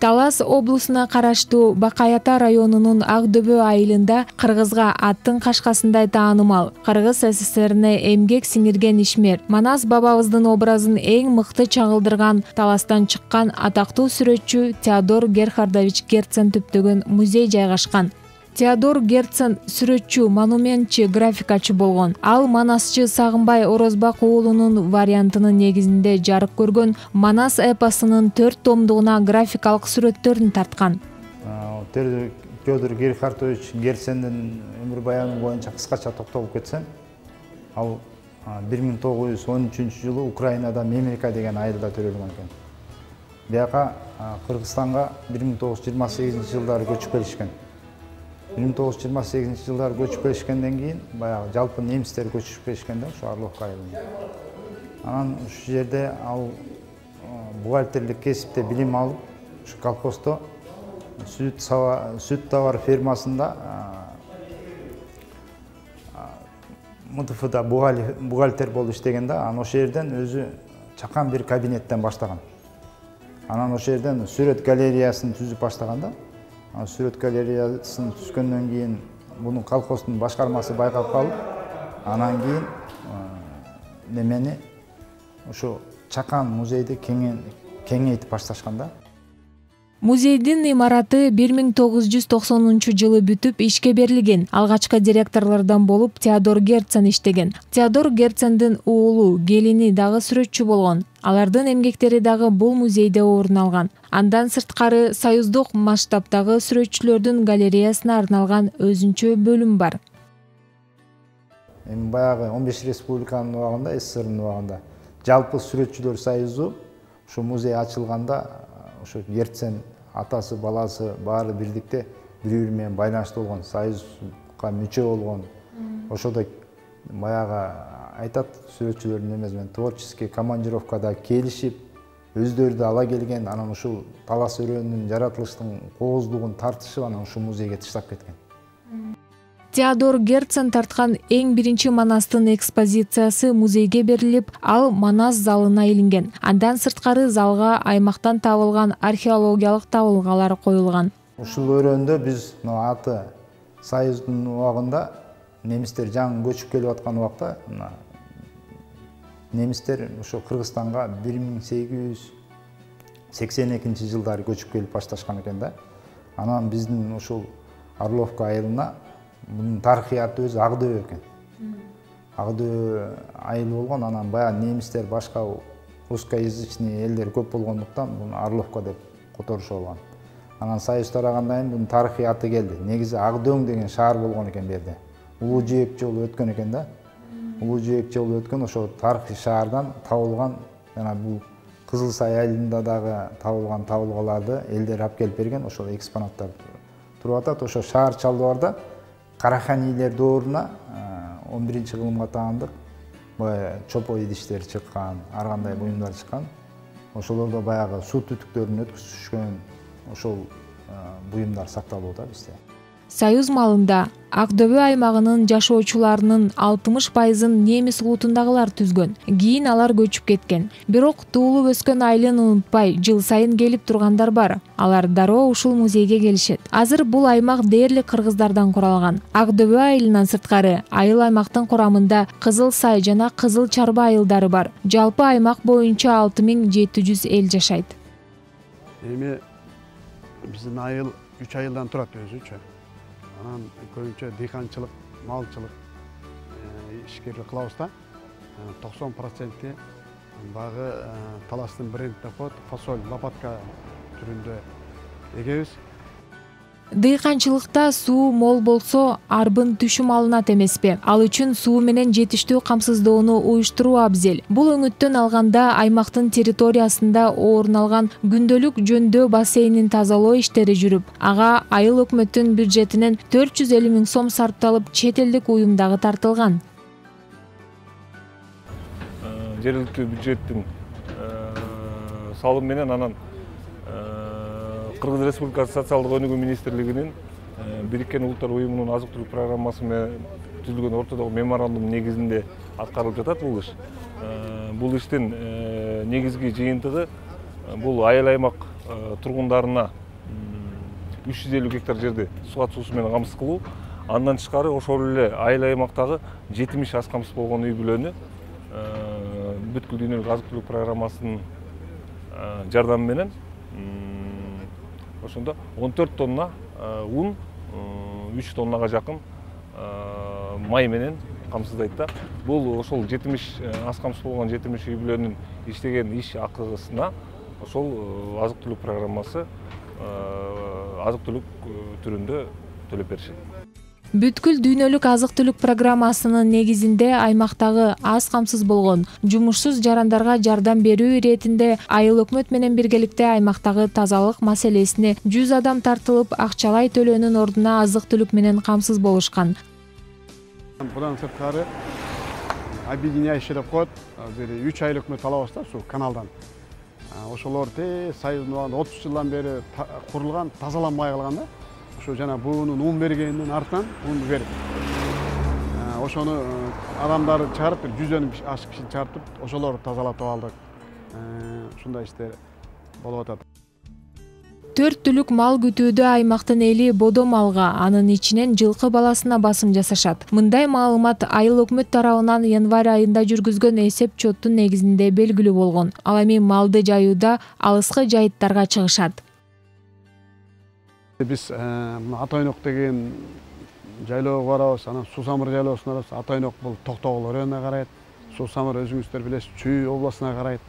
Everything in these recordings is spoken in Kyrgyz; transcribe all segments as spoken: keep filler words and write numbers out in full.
Талас облусуна караштуу Бакай Ата районунун Ак Дөбө айылында кыргызга аттын кашкасындай таанымал Кыргыз СССРине эмгек сиңирген ишмер Манас бабабыздын образын эң мыкты чагылдырган Таластан чыккан атактуу сүрөтчү Теодор Герхардович Герцен түптөгөн музей жайгашкан. Теодор Герцен сүрөтчү, монументчи, графикачы болгон. Ал Манасчы Сагынбай Орозбак уулунун вариантынын негизинде жарык көргөн Манас эпосунун төрт томдугуна графикалык сүрөттөрүн тарткан. Теодор Герхардович Герцендин өмүр баяны боюнча кыскача токтолуп кетсем, ал бир миң тогуз жүз он үчүнчү жылы Украинада Мемрика деген айылда төрөлгөн экен. Бияка Кыргызстанга бир миң тогуз жүз жыйырма сегизинчи жылдары көчүп келишкен. бир миң тогуз жүз жыйырма сегизинчи жылдары көчүп келишкенден кийин баягы жалпы немистер көчүп келишкен да ушу Орловка айылына. Анан ушул жерде ал бухгалтерлик кесипте билим алып, ушу колхоздо сүт сүт товар фермасында МТФда бухгалтер болуп иштеген да, анан ошол жерден өзү чакан бир кабинеттен баштаган. Анан ошол жерден сүрөт галереясын түзүп баштаган да. Сүрөт галереясын түзгөндөн кийин муну колхоздун башкармасы байкап калып, анан кийин немени ошо чакан музейди кеңейтип башташкан да. Музейдин имараты бир миң тогуз жүз токсонунчу жылы бүтүп ишке берилген. Алгачкы директорлордон болуп Теодор Герцен иштеген. Теодор Герцендин уулу, келини дагы сүрөтчү болгон. Алардын эмгектери дагы бул музейде орун алган. Андан сырткары союздук масштабдагы сүрөтчүлөрдүн галереясына арналган өзүнчө бөлүм бар. Эми баягы он беш республиканын убагында, СССРдин убагында жалпы сүрөтчүлөр союзу ушу музей ачылганда ошо Герцен атасы, баласы баары бирдикте бири-бири менен байланышта болгон, союзга мүчө болгон. Ошодо баягы айтат сүрөтчүлөрдүн эмеси менен творческий командировкада келишип, өздөрү да ала келген, анан ушул талас өрөөнүн жаратылыштын кооздугун тартышып, анан ушул музейге таштап кеткен. Теодор Герцен тарткан эң биринчи Манастын экспозициясы музейге берилип, ал Манас залына илинген. Андан сырткары залга аймактан табылган археологиялык табылгалар коюлган. Ушул өрөөндө биз аты союздун убагында немистер жаңы көчүп келип аткан убакта немистер ошо Кыргызстанга бир миң сегиз жүз сексен экинчи жылдары көчүп келип башташкан экен да. Анан биздин ушул Орловка айылына bunun tarixiyatı özü Ак Дөбө экен. Ак Дөбө айыл болгон, анан баягы немистер башка русскоязычный элдер көп болгондуктан буну Орловка деп которушуп алган. Анан союз тарагандан кийин бунун тарихiyatı келди. Негизи Ак Дөң деген шаар болгон экен берде. Улуу Жээк жолу өткөн экен да. Улуу Жээк жолу өткөн ошо тарыхый шаардан табылган, жана бул Кызыл Сай айылында дагы табылган табылгаларды элдер алып келип берген, ошол экспонаттар туруп атат. Ошо шаар чалдыбарда Караханилер дооруна он биринчи кылымга таандык чопой идиштер чыккан, ар кандай буюмдар чыккан. Ошолордо баягы суу түтүктөрүн өткүзүшкөн ошол буюмдар сакталып атат бизде. Союз малында Ак Дөбө аймагынын жашоочуларынын алтымыш пайызын немис улутундагылар түзгөн. Кийин алар көчүп кеткен. Бирок туулуп өскөн айылын унутпай, жыл сайын келип тургандар бар. Алар дароо ушул музейге келишет. Азыр бул аймак дээрлик кыргыздардан куралган. Ак Дөбө айылынан сырткары айыл аймактын курамында Кызыл Сай жана Кызыл Чарба айылдары бар. Жалпы аймак боюнча алты миң жети жүз эл жашайт. Эми биздин айыл үч айылдан турат өзүчө. Анан көбүнчө дыйканчылык, малчылык ишкерлик кылабыз да. токсон проценти багы таластын брендине коет, фасоль, лопатка түрүндө эгебиз. Дыйканчылыкта суу мол болсо, арбын түшүм алынат эмеспи? Ал үчүн суу менен жетиштүү камсыздоону уюштуруу абзел. Бул өңүттөн алганда аймактын территориясында орун алган күндөлүк жөндөө бассейнин тазалоо иштери жүрүп, ага айыл өкмөттүн бюджетинен төрт жүз элүү миң сом сарпталып, чет элдик уюм дагы тартылган. Жергиликтүү бюджеттин салым менен анан Кыргыз Республикасы социалдык өнүгүү министрлигинин Бириккен Улуттар уюмунун азык-түлүк программасы менен түзүлгөн ортодогу меморандум негизинде аткарылып жатат бул иш. Бул иштин негизги жыйынтыгы бул айыл аймак тургундарына үч жүз элүү гектар жерди суат суусу менен камсыз кылуу. Андан тышкары ошол эле айыл аймактагы жетимиш аз камсыз болгон үй бүлөнү бүткүл дүйнөлүк азык-түлүк программасынын жардамы менен ошондо он төрт тонна ун, үч тоннага жакын май менен камсыздайт да. Бул ошол жетимиш аз камсыз болгон жетимиш үй бүлөнүн иштеген иш акысына ошол азык-түлүк программасы азык-түлүк түрүндө төлөп беришет. Бүткүл дүйнөлүк азык-түлүк программасынын негизинде аймактагы аз камсыз болгон жумушсуз жарандарга жардам берүү иретинде айыл өкмөт менен биргеликте аймактагы тазалык маселесине жүз адам тартылып, акчалай төлөөнүн ордуна азык-түлүк менен камсыз болушкан. Будан сырткары объединяющий деп коет, бир үч айыл өкмөт алабыз да, ушул каналдан. Ошолор те Союздун убагында отуз жылдан бери курулган, тазаланбай калган да. Ошо жана буунун ун бергенинин артынан ун берип. Ошону адамдарды чыгарып, бир жүздөн ашык кишини чыгарып, ошолорду тазалатып алдык. Ушундай иштер болуп атат. Төрт түлүк мал күтүүдө аймактын эли бодо малга, анын ичинен жылкы баласына басым жасашат. Мындай маалымат айыл өкмөт тарабынан январь айында жүргүзгөн эсеп чоттун негизинде белгилүү болгон. Ал эми малды жаюуда алыскы жайыттарга чыгышат. Биз Атайнок деген жайлоого барабыз, анан Суу Самыр жайлоосуна барабыз. Атайнок бул Токтогул районуна карайт. Суу Самыр өзүңүздөр билесиз, Чүй областына карайт.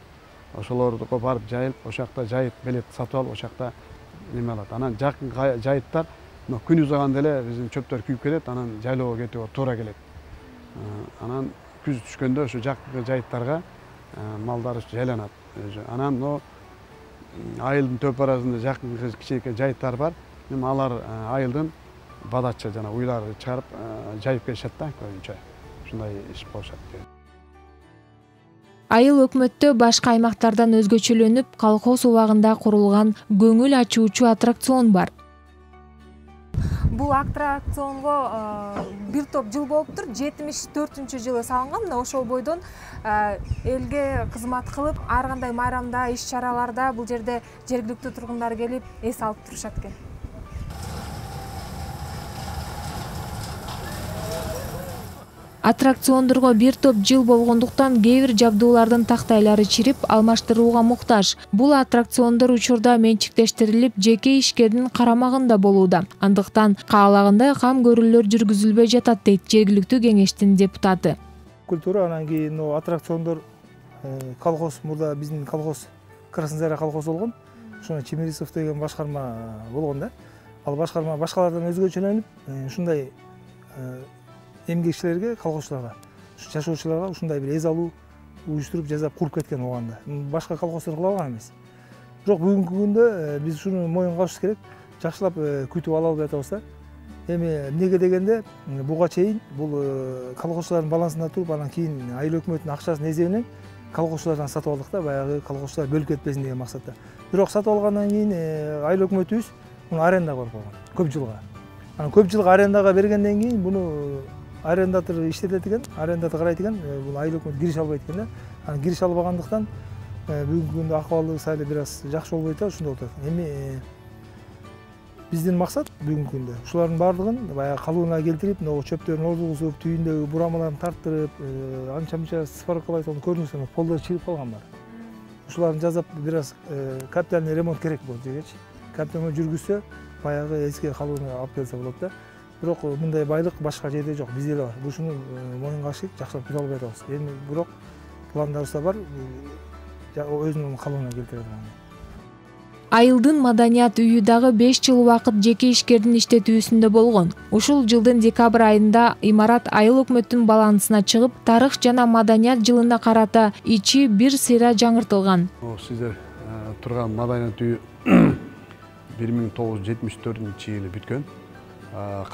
Ошолорду барып жайылып, ошол жакта жайыт белет сатып алып, ошол жакта неме алат. Анан жакын жайыттар күн узаганда эле биздин чөптөр күйүп кетет, анан жайлоого кетүүгө туура келет. Анан күз түшкөндө ошо жакын жайыттарга малдар жайланат өзү. Анан но айылдын төп арасында жакын кичинекей жайыттар бар. Эми алар айылдын бадачы жана уйларды чыгарып жайып келишет да, көбүнчө. Ушундай иш болушат. Айыл өкмөттө башка аймактардан өзгөчөлөнүп, колхоз убагында курулган көңүл ачуучу аттракцион бар. Бул аттракционго бир топ жыл болуптур. жетимиш төртүнчү жылы салынган. Мына ошол бойдон элге кызмат кылып, ар кандай майрамда, иш-чараларда бул жерде жергиликтүү тургундар келип эс алып турушат экен. Аттракциондорго бир топ жыл болгондуктан кээ бир жабдуулардын тактайлары чирип, алмаштырууга муктаж. Бул аттракциондор учурда менчиктештирилип, жеке ишкердин карамагында болууда. Андыктан каалагандай кам көрүүлөр жүргүзүлбөй жатат, дейт жергиликтүү кеңештин депутаты. Культура анан кийин аттракциондор колхоз, мурда биздин колхоз Красный Заря колхозу болгон. Ошоно Чемерисов деген башкарма болгон да. Ал башкарма башкалардан өзгөчөлөнүп, ушундай эмгекчилерге, колхозчуларга, жашоочуларга ушундай бир эз алуу уюштуруп жасап куруп кеткен убагында. Башка колхоздор кыла алган эмес. Бирок бүгүнкү күндө биз ушуну моюнга алышыбыз керек. Жакшылап күтүп ала албай атабыз да. Эми эмнеге дегенде, буга чейин бул колхозчулардын балансында туруп, анан кийин айыл өкмөтүнүн акчасынын эсебинен колхозчулардан сатып алдык да, баягы колхозчулар бөлүп кетпесин деген максатта. Бирок сатып алгандан кийин айыл өкмөтүбүз муну арендага берип койгон, көп жылга. Анан көп жылга арендага бергенден кийин буну арендатор иштетет экен, арендатор карайт экен, бул айыл өкмөт кириш албайт экен да. Анан кириш албагандыктан бүгүнкү күндө акыбалы сайлы бир аз жакшы болбой атат, ушундай болуп атат. Эми биздин максат бүгүнкү күндө ушулардын баардыгын баягы калыбына келтирип, могу чөптөрүн ордугузуп, түйүндөгү бурамаларын тарттырып, анча-мынча сваркалайт, onu көрүнүсүң, полдор чирип калган бар. Ушуларын жазап бир аз капитальный ремонт керек болот дегечи. Капитальный жүргүзсө, баягы эски калыбына алып келсе болот да. Бирок мындай байлык башка жерде жок, бизде эле бар. Ушуну моюнга алышып, жакшылап күтүп албай атабыз. Эми бирок пландарыбызда бар, өзүнүн калыбына келтирет. Айылдын маданият үйү дагы беш жыл убакыт жеке ишкердин иштетүүсүндө болгон. Ушул жылдын декабрь айында имарат айыл өкмөттүн балансына чыгып, тарых жана маданият жылына карата ичи бир сыйра жаңыртылган. Сиздер турган маданият үйү бир миң тогуз жүз жетимиш төртүнчү жылы бүткөн.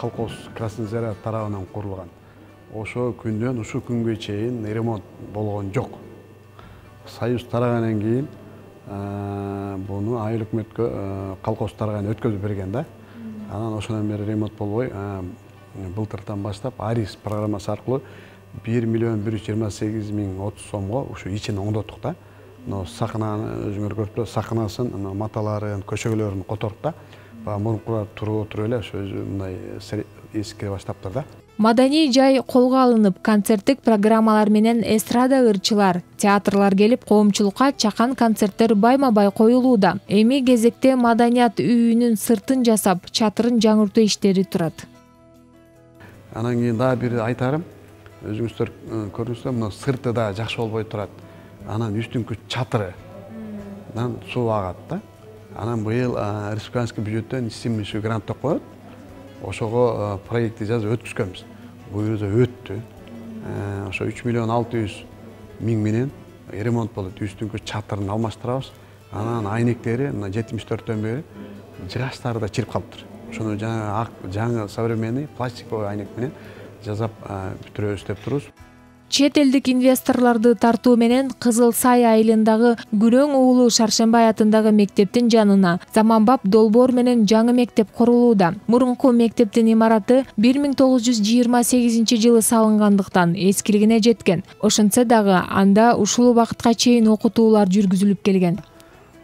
Колхоз Красный Заря тарабынан курулган. Ошо күндөн ушу күнгө чейин ремонт болгон жок. Союз тарагандан кийин буну айыл өкмөткө колхоздорго өткөзүп берген да. Анан ошондон бери ремонт болбой былтырдан баштап Арис программасы аркылуу бир миллион бир жүз жыйырма сегиз миң отуз сомго ушу ичин оңдоттук да. Мына сакынаны өзүңөр көрүп турасыз, сакынасын, маталарын, көчөгөлөрүн которуп да. Баягы мурункулар туруп отуруп эле ошо өзү мындай эскире баштаптыр да. Маданий жай колго алынып, концерттик программалар менен эстрада ырчылар, театрлар келип, коомчулукка чакан концерттер байма-бай коюлууда. Эми кезекте маданият үйүнүн сыртын жасап, чатырын жаңыртуу иштери турат. Анан кийин дагы бир айтарым, өзүңүздөр көрдүңүздөр, мына сырты да жакшы болбой турат. Анан үстүңкү чатырынан суу агат да. Анан быйыл республиканский бюджеттен исимиши грант деп коет. Ошого проектти жазып өткүзгөнбүз. Буюрса өттү. Ошо үч миллион алты жүз миң менен ремонт болот. Үстүңкү чатырын алмаштырабыз. Анан айнектери мына жетимиш төрттөн бери жыгачтары да чирип калыптыр. Ошону жаңы жаңы современный пластиковый айнек менен жасап бүтүрөбүз деп турубуз. Чет элдик инвесторлорду тартуу менен Кызыл Сай айылындагы Күрөң уулу Шаршембай атындагы мектептин жанына заманбап долбоор менен жаңы мектеп курулууда. Мурунку мектептин имараты бир миң тогуз жүз жыйырма сегизинчи жылы салынгандыктан эскилигине жеткен. Ошентсе дагы анда ушул убакытка чейин окутуулар жүргүзүлүп келген.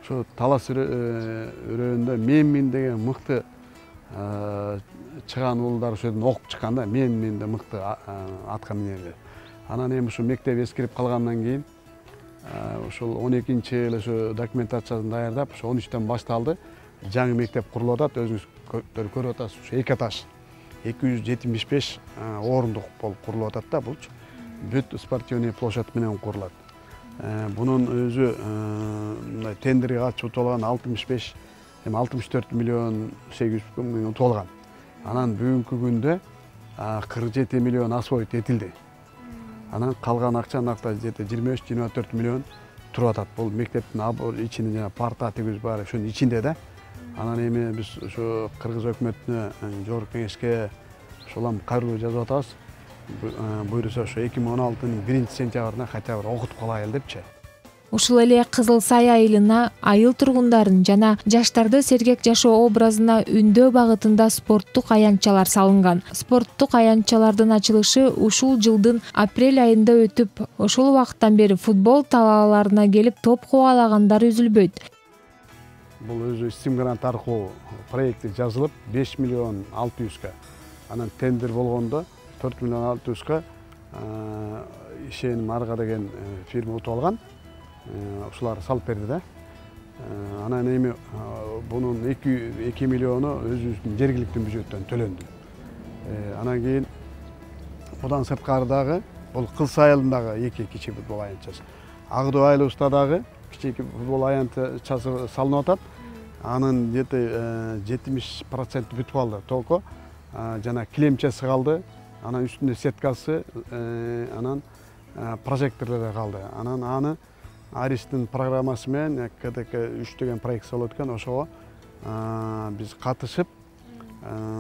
Ошо талас өрөөндө Менмин деген мыкты чыган уулдар ошо жерден окуп чыккан да. Менмин да мыкты атка минерлер. Анан эми ушу мектеп эскирип калгандан кийин ошол он экинчи жылы ошо документациясын даярдап, ошо он үчтөн башталды. Жаңы мектеп курулуп атат, өзүңүз көрүп атасыз, ушу эки этаж, эки жүз жетимиш беш орундук болуп курулуп атат да. Бул бүт спортивный площадь менен курулат. Бунун өзү мындай тендерге катышып утуп алган алтымыш беш, эми алтымыш төрт миллион сегиз жүз миң утуп алган. Анан бүгүнкү күндө кырк жети миллион освоить этилди. Анан калган акча накта жыйырма үч жыйырма төрт миллион туруп атат. Бул мектептин ичинде жана парта тигиз баары ошонун ичинде да. Анан эми биз ошо кыргыз өкмөтүнө, жогорку кеңешке ошолам кайрылуу жазып атабыз. Буюрса ошо эки миң он алтынын биринчи сентябрына хотя бы окутуп калайлы депчи. Ушул эле Кызыл Сай айылына айыл тургундарын жана жаштарды сергек жашоо образына үндөө багытында спорттук аянтчалар салынган. Спорттук аянтчалардын ачылышы ушул жылдын апрель айында өтүп, ошол убакыттан бери футбол талааларына келип топ кубалагандар үзүлбөйт. Бул өзү СИМ грант аркылуу проекти жазылып беш миллион алты жүзгө. Анан тендер болгондо төрт миллион алты жүзгө ишеним Арга деген фирма утуп алган. Ушулар салып берди да. Анан эми бунун эки миллиону өзүбүздүн жергиликтүү бюджеттен төлөндү. Анан кийин будан сырткары дагы бул Кыз айылындагы эки кичи футбол аянтчасы. Агдуу айылыбызда дагы кичи футбол аянтчасы салынып атат. Анын где-то жетимиш проценти бүтүп калды. Толку жана килемчеси калды. Анан үстүндө сеткасы, анан прожекторлору калды. Анан аны Аристин программасы менен КДК үч деген проект болуп өткөн, ошого биз катышып,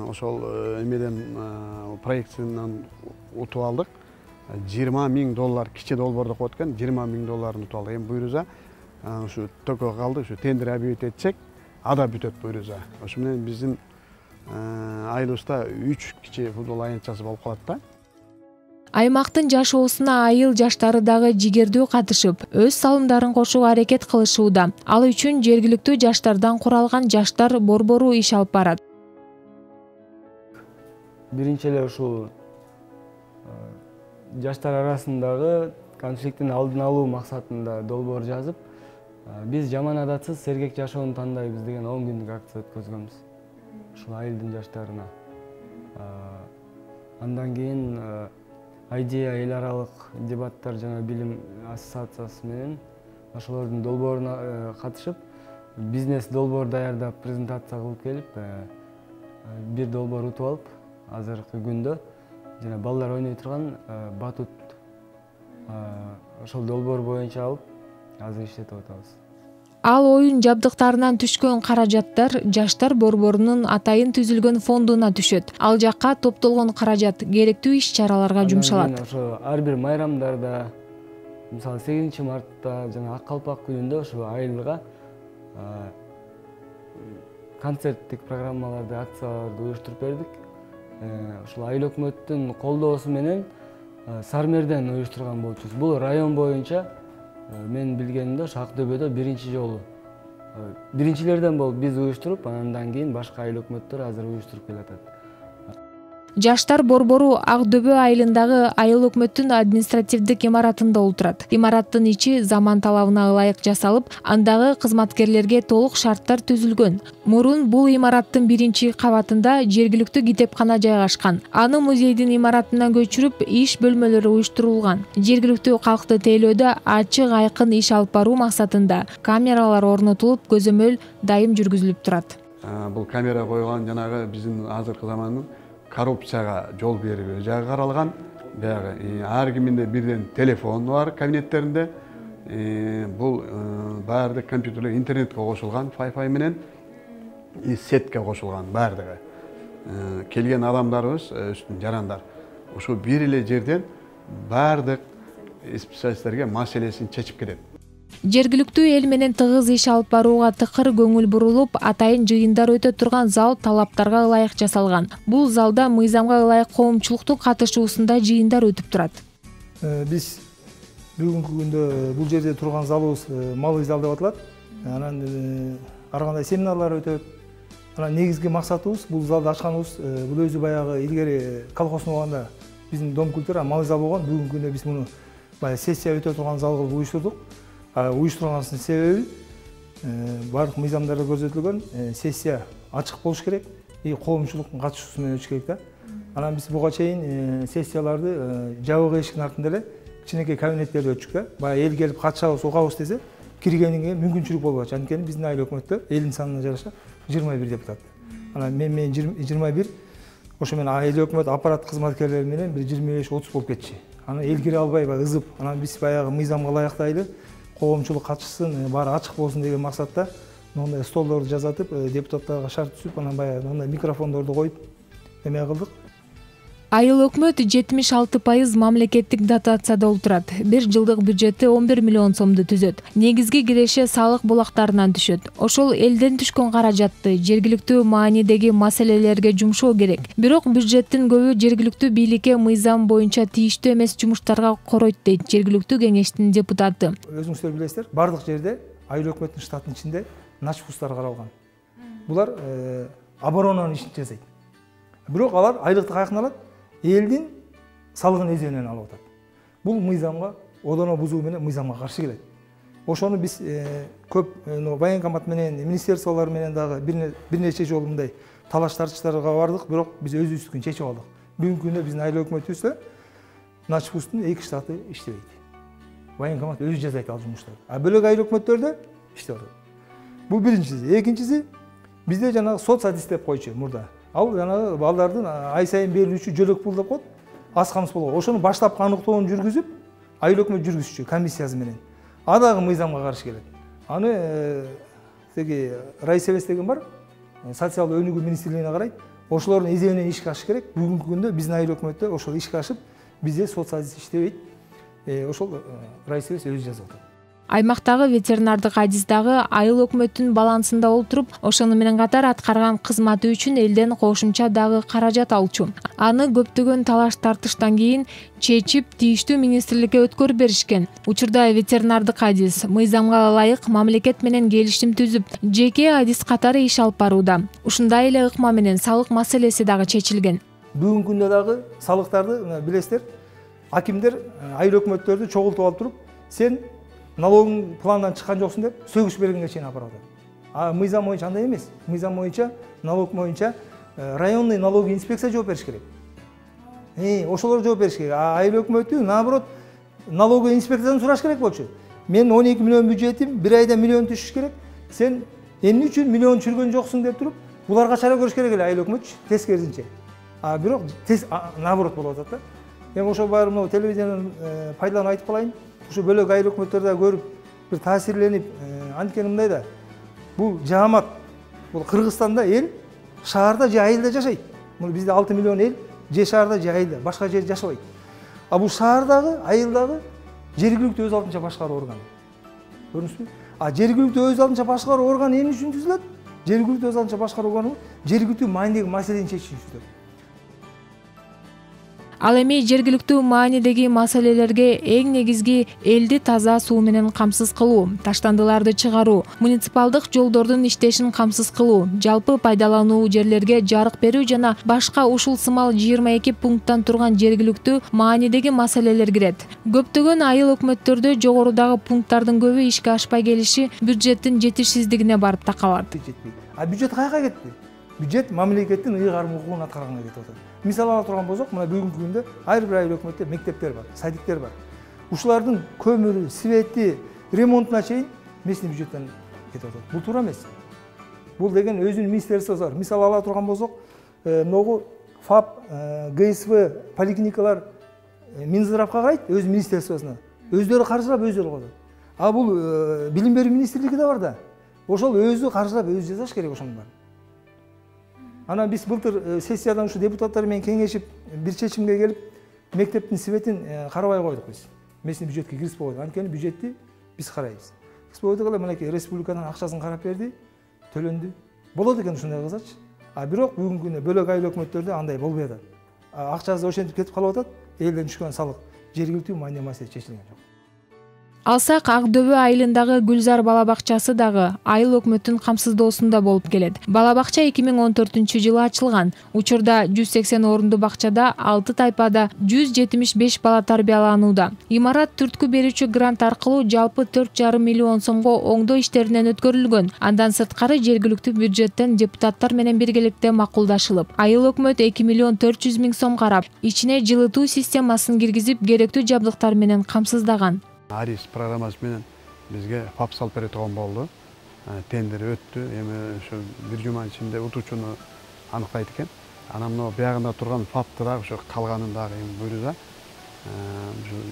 ошол эмеден проектинен утуп алдык. жыйырма миң доллар кичи долбоор деп коет экен, жыйырма миң долларын утуп алдык. Эми буюрса ушу төкө калды, ушу тендер объявить этсек, ада бүтөт буюрса. Ошо менен биздин айылыбызда үч кичи футбол аянтчасы болуп калат да. Аймактын жашоосуна айыл жаштары дагы жигердүү катышып, өз салымдарын кошууга аракет кылышууда. Ал үчүн жергиликтүү жаштардан куралган жаштар борбору иш алып барат. Биринчи эле ушул жаштар арасындагы конфликттин алдын алуу максатында долбоор жазып, биз жаман адатсыз сергек жашоону тандайбыз деген он күндүк акция өткөзгөнбүз. Ушул айылдын жаштарына. Андан кийин Айдея эл аралык дебаттар жана билим ассоциациясы менен ошолордун долбооруна катышып, бизнес долбоор даярдап, презентация кылып келип, бир долбоор утуп алып, азыркы күндө жана балдар ойной турган батут ошол долбоор боюнча алып, азыр иштетип атабыз. Ал оюн жабдыктарынан түшкөн каражаттар жаштар борборунун атайын түзүлгөн фондуна түшөт. Ал жакка топтолгон каражат керектүү иш-чараларга жумшалат. Ошо ар бир майрамдарда, мисалы сегизинчи мартта жана Ак калпак күнүндө ошо айылга концерттик программаларды, акцияларды уюштуруп бердик. Ушул айыл өкмөттүн колдоосу менен Сармерден уюштурган болчубуз. Бул район боюнча мен билгенимде ушу Ак Дөбөдө биринчи жолу. Биринчилерден болуп биз уюштуруп, андан кийин башка айыл өкмөттөр азыр уюштуруп келатат. Жаштар борбору Ак Дөбө айылындагы айыл өкмөттүн административдик имаратында отурат. Имараттын ичи заман талабына ылайык жасалып, андагы кызматкерлерге толук шарттар түзүлгөн. Мурун бул имараттын биринчи кабатында жергиликтүү китепкана жайгашкан. Аны музейдин имаратына көчүрүп, иш бөлмөлөрү уюштурулган. Жергиликтүү калкты тейлөөдө ачык айкын иш алып баруу максатында камералар орнотулуп, көзөмөл дайым жүргүзүлүп турат. Бул камера койгон жанагы биздин азыркы замандын коррупцияга жол берүү жагы каралган. Баягы ар киминде бирден телефон бар кабинеттеринде. Бул баардык компьютерлер интернетке кошулган, Wi-Fi менен сетке кошулган баардыгы. Келген адамдарыбыз үстүн жарандар ушул бир эле жерден баардык специалисттерге маселесин чечип кетет. Жергиликтүү эл менен тыгыз иш алып барууга тыкыр көңүл бурулуп, атайын жыйындар өтө турган зал талаптарга ылайык жасалган. Бул залда мыйзамга ылайык коомчулуктун катышуусунда жыйындар өтүп турат. Биз бүгүнкү күндө бул жерде турган залыбыз малый зал деп аталат. Анан ар кандай семинарлар өтөт. Анан негизги максатыбыз бул залды ачканыбыз, бул өзү баягы илгери колхоздун убагында биздин дом культура малый зал болгон. Бүгүнкү күндө биз муну баягы сессия өтө турган зал кылып уюштурдук. Уюштурганыбыздын себеби баардык мыйзамдарда көрсөтүлгөн сессия ачык болуш керек и коомчулуктун катышуусу менен өтүш керек да. Анан биз буга чейин сессияларды жабык эшиктин артында эле кичинекей кабинеттерде өтчүк да. Баягы эл келип катышабыз, угабыз десе, киргенинге мүмкүнчүлүк болбочу. Анткени биздин айыл өкмөттө элдин санына жараша жыйырма бир депутат. Анан мен мен жыйырма бир, ошо менен айыл өкмөт аппарат кызматкерлери менен бир жыйырма беш отуз болуп кетчү. Анан эл кире албай баягы ызып, анан биз баягы мыйзамга ылайыктайлы коомчулук катышсын, баары ачык болсун деген максатта мындай столдорду жасатып, депутаттарга шарт түзүп, анан баягы мындай микрофондорду коюп эме кылдык. Айыл өкмөт жетимиш алты пайыз мамлекеттик дотацияда отурат. Бир жылдык бюджети он бир миллион сомду түзөт. Негизги киреше салык булактарынан түшөт. Ошол элден түшкөн каражатты жергиликтүү маанидеги маселелерге жумшоо керек. Бирок бюджеттин көбү жергиликтүү бийликке мыйзам боюнча тийиштүү эмес жумуштарга коройт дейт жергиликтүү кеңештин депутаты. Өзүңүздөр билесиздер, бардык жерде айыл өкмөттүн штатынын ичинде начпустар каралган. Булар оборонанын ишин жасайт. Бирок алар айлыкты каяктан алат? Элдин салыгын эзебинен алып атат. Бул мыйзамга одоно бузуу менен мыйзамга каршы келет. Ошону биз көп военкомат менен, министерстволор менен дагы бир нече жолу мындай талаш тартыштарга бардык, бирок биз өзүбүздүкүн чечип алдык. Бүгүнкү күндө биздин айыл өкмөтүбүздө начпусттун эки штаты иштебейт. Военкомат өзү жасайт ал жумуштарды. А бөлөк айыл өкмөттөрдө иштеп атат. Бул биринчиси. Экинчиси, бизде жанагы соцсадис деп койчу мурда. Ал жанагы балдардын ай сайын берилүүчү жөлөк пул деп коет, аз камыс болгон. Ошону баштапкы аныктоонун жүргүзүп, айыл өкмөт жүргүзчү комиссиясы менен. А дагы мыйзамга каршы келет. Аны теги райсебес деген бар, социалдык өнүгүү министрлигине карайт. Ошолордун эзебинен ишке ашыш керек. Бүгүнкү күндө биздин айыл өкмөттө ошол ишке ашып, бизде соцсадис иштебейт. Ошол райсебес өзү жазып атат. Аймактагы ветеринардык адис дагы айыл өкмөттүн балансында олтуруп, ошону менен катар аткарган кызматы үчүн элден кошумча дагы каражат алчу. Аны көптөгөн талаш тартыштан кийин чечип, тийиштүү министрликке өткөрүп беришкен. Учурда ветеринардык адис мыйзамга ылайык мамлекет менен келишим түзүп, жеке адис катары иш алып барууда. Ушундай эле ыкма менен салык маселеси дагы чечилген. Бүгүнкү күндө дагы салыктарды билесиздер, акимдер айыл өкмөттөрдү чогултуп алып туруп, сен налогың пландан чыккан жоксуң деп сөгүш бергенге чейин апарып атат. А мыйзам боюнча андай эмес. Мыйзам боюнча, налог боюнча районный налоговый инспекция жооп бериш керек. Э, ошолор жооп бериш керек. А айыл өкмөтү наоборот налоговый инспекциядан сураш керек болчу. Мен он эки миллион бюджетим, бир айда миллион түшүш керек. Сен эмне үчүн миллион чүргөн жоксуң деп туруп, буларга чара көрүш керек эле айыл өкмөтчү, тескерисинче. А бирок тез наоборот болуп атат да. Эми ошол баары мына телевизиянын пайдаланып айтып калайын. Ушу бөлөк айыл өкмөттөрдө көрүп, бир таасирленип, анткени мындай да. Бул жаамат, бул Кыргызстанда эл шаарда же айылда жашайт. Бул бизде алты миллион эл же шаарда же айылда, башка жерде жашабайт. А бул шаардагы, айылдагы жергиликтүү өз алдынча башкаруу органы. Көрдүңүзбү? А жергиликтүү өз алдынча башкаруу органы эмне үчүн түзүлөт? Жергиликтүү өз алдынча башкаруу органы жергиликтүү маанидеги маселени чечиш үчүн түзүлөт. Ал эми жергиликтүү маанидеги маселелерге эң негизги элди таза суу менен камсыз кылуу, таштандыларды чыгаруу, муниципалдык жолдордун иштешин камсыз кылуу, жалпы пайдалануу жерлерге жарык берүү жана башка ушул сымал жыйырма эки пункттан турган жергиликтүү маанидеги маселелер кирет. Көптөгөн айыл өкмөттөрдө жогорудагы пункттардын көбү ишке ашпай келиши бюджеттин жетишсиздигине барып такалат. А бюджет каяка кетти? Бюджет мамлекеттин ыйгарым укугун аткарганга кетип атат. Мисал ала турган болсок, мына бүгүнкү күндө ар бир айыл өкмөттө мектептер бар, садиктер бар. Ушулардын көмүрү, свети, ремонтуна чейин местный бюджеттен кетип атат. Бул туура эмес. Бул деген өзүнүн министерствосу бар. Мисал ала турган болсок, могу ФАП, ГСВ, поликлиникалар Минздравга карайт, өз министерствосуна. Өздөрү каржылап, өздөрү коет. А бул билим берүү министрлиги да бар да. Ошол өзү каржылап, өзү жасаш керек ошонун баарын. Анан биз былтыр сессиядан ушу депутаттар менен кеңешип бир чечимге келип, мектептин светин карабай койдук биз. Местный бюджетке киргизбей койдук. Анткени бюджетти биз карайбыз. Киргизбей койдук эле, мынакей республиканын акчасын карап берди, төлөндү. Болот экен ушундай кылсачы. А бирок бүгүнкү күндө бөлөк айыл өкмөттөрдө андай болбой атат. Акчасы ошентип кетип калып атат, элден түшкөн салык жергиликтүү маани маселе чечилген жок. Алсак Ак Дөбө айылындагы Гүлзар бала бакчасы дагы айыл өкмөттүн камсыздоосунда болуп келет. Бала бакча эки миң он төртүнчү жылы ачылган. Учурда жүз сексен орунду бакчада алты тайпада жүз жетимиш беш бала тарбияланууда. Имарат түрткү берүүчү грант аркылуу жалпы төрт жарым миллион сомго оңдоо иштеринен өткөрүлгөн. Андан сырткары жергиликтүү бюджеттен депутаттар менен биргеликте макулдашылып, айыл өкмөт эки миллион төрт жүз миң сом карап, ичине жылытуу системасын киргизип, керектүү жабдыктар менен камсыздаган. Арис программасы менен бизге ФАП салып бере турган болду. Тендер өттү. Эми ошо бир жума ичинде утуучуну аныктайт экен. Анан мына биягында турган ФАПты дагы ошо калганын дагы эми буйруда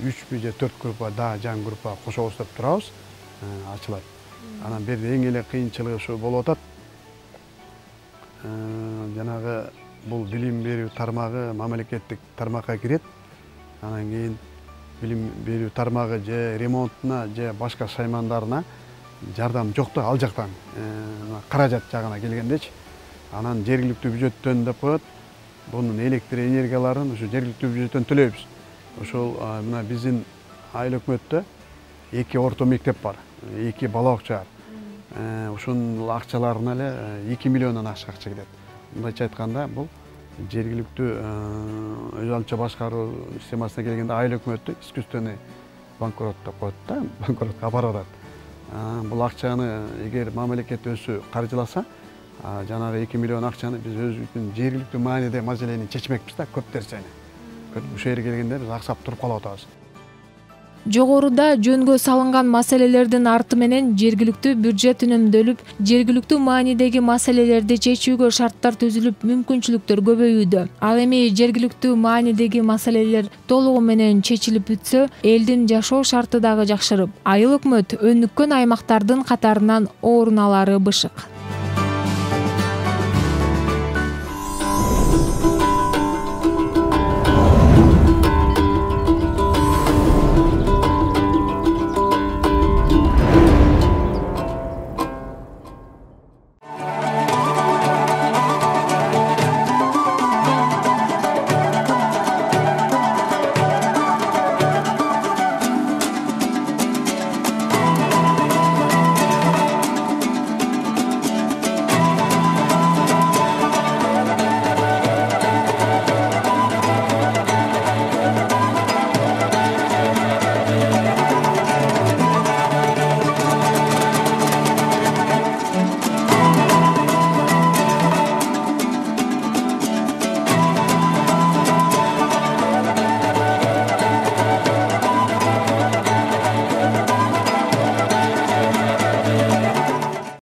үчпү же төрт группа дагы жаңы группа кошобуз деп турабыз, ачылат. Анан берде эң эле кыйынчылыгы ошо болуп атат. Жанагы бул билим берүү тармагы мамлекеттик тармакка кирет. Анан кийин билим берүү тармагы же ремонтуна же башка шаймандарына жардам жок да, ал жактан каражат жагына келгендечи. Анан жергиликтүү бюджеттен деп коет. Бунун электр энергияларын ошо жергиликтүү бюджеттен төлөйбүз. Ошол мына биздин айыл өкмөттө эки орто мектеп бар, эки бала бакча бар. Ошонун акчаларына эле эки миллиондон ашык акча кетет. Мындайча айтканда бул жергиликтүү өз алдынча башкаруу системасына келгенде айыл өкмөттү искусственный банкрот деп коет да, банкротко алып барат. Бул акчаны эгер мамлекет өзү каржыласа, жанагы эки миллион акчаны биз өзүбүздүн жергиликтүү мааниде маселени чечмекпиз да, көп нерсени. Ушул жерге келгенде биз аксап туруп калып атабыз. Жогоруда жөнгө салынган маселелердин арты менен жергиликтүү бюджет үнөмдөлүп, жергиликтүү маанидеги маселелерди чечүүгө шарттар түзүлүп, мүмкүнчүлүктөр көбөйүүдө. Ал эми жергиликтүү маанидеги маселелер толугу менен чечилип бүтсө, элдин жашоо шарты дагы жакшырып, айыл өкмөт өнүккөн аймактардын катарынан орун алары бышык.